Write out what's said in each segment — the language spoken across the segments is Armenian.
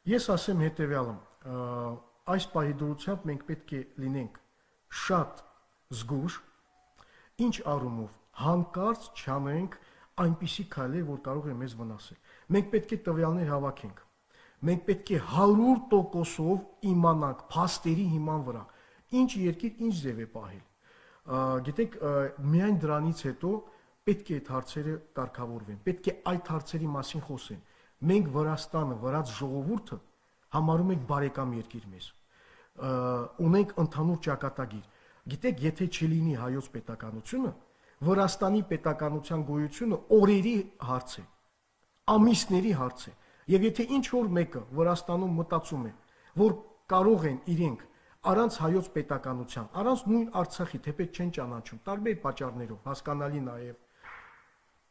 Ես ասեմ հետևյալը, այս պահի դրությամբ մենք պետք է լինենք շատ զգուշ, ինչ առումով հանկարծ չանենք այնպիսի քայլեր, որ կարող է մեզ վնասել։ Մենք պետք է տվյալներ հավաքենք։ Մենք պետք է 100%-ով իմանանք փաստերի հիման վրա, ինչ երկիր, ինչ ձև է պահել։ Գիտեք, միայն դրանից հետո պետք է այդ հարցերը կարգավորվեն, պետք է այդ հարցերի մասին խոսեն։ Մենք Վրաստանը, վրաց ժողովուրդը համարում ենք բարեկամ երկիր մեզ։ Ունենք ընդհանուր ճակատագիր։ Գիտեք, եթե չլինի հայոց պետականությունը, Վրաստանի պետականության գոյությունը օրերի հարց է, ամիսների հարց է։ Եվ եթե ինչ որ մեկը Վրաստանում մտածում է, որ կարող են իրենք առանց հայոց պետականության, առանց նույն Արցախի, թեպետ չեն ճանաչում, տարբեր պատճառներով, հասկանալի նաև,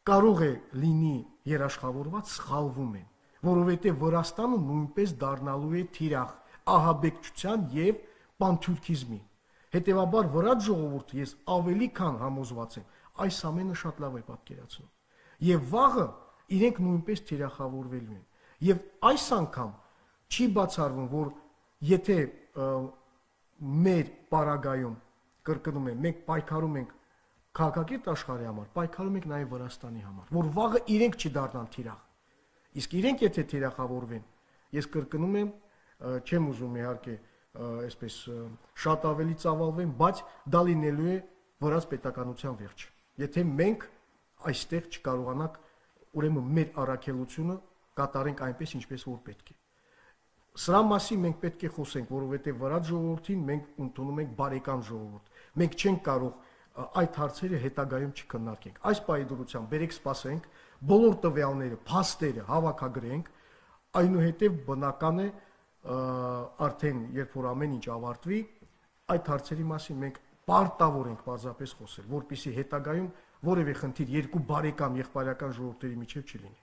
կարող է լինի երաշխավորված, սխալվում են, որովհետև Վրաստանը նույնպես դառնալու է թիրախ ահաբեկչության եւ պանթյուրքիզմի։ Հետևաբար վրաց ժողովուրդը ես ավելի քան համոզված եմ, այս ամենը շատ լավ է պատկերացնում։ Եվ վաղը իրենք նույնպես թիրախավորվելու են։ Եվ այս անգամ չի բացառվում, որ եթե մեր պարագայում կրկնում եմ, մենք պայքարում ենք քաղաքակիրթ աշխարհի համար, պայքարում ենք նաև Վրաստանի համար, որ վաղը իրենք չդառնան թիրախ։ Իսկ իրենք եթե թիրախավորվեն, ես կրկնում եմ, չեմ ուզում իհարկե այսպես շատ ավելի ծավալվեն, բայց դա լինելու է վրաց պետականության վերջը։ Եթե մենք այստեղ չկարողանանք ուրեմն մեր առաքելությունը կատարենք այնպես, ինչպես որ պետք է։ Սրա մասին մենք պետք է խոսենք, որովհետև վրաց ժողովրդին մենք ընդունում ենք բարեկամ ժողովուրդ։ Մենք չենք կարող այդ հարցերը հետագայում չքննարկենք։ Այս պահի դրությամբ բերեք սպասենք, բոլոր տվյալները, փաստերը հավաքագրենք, այնուհետև բնական է արդեն երբ որ ամեն ինչ ավարտվի, այդ հարցերի մասին մենք պարտավոր ենք պարզապես խոսել, որպեսզի հետագայում որևէ խնդիր երկու բարեկամ եղբայրական ժողովուրդների միջև չլինի։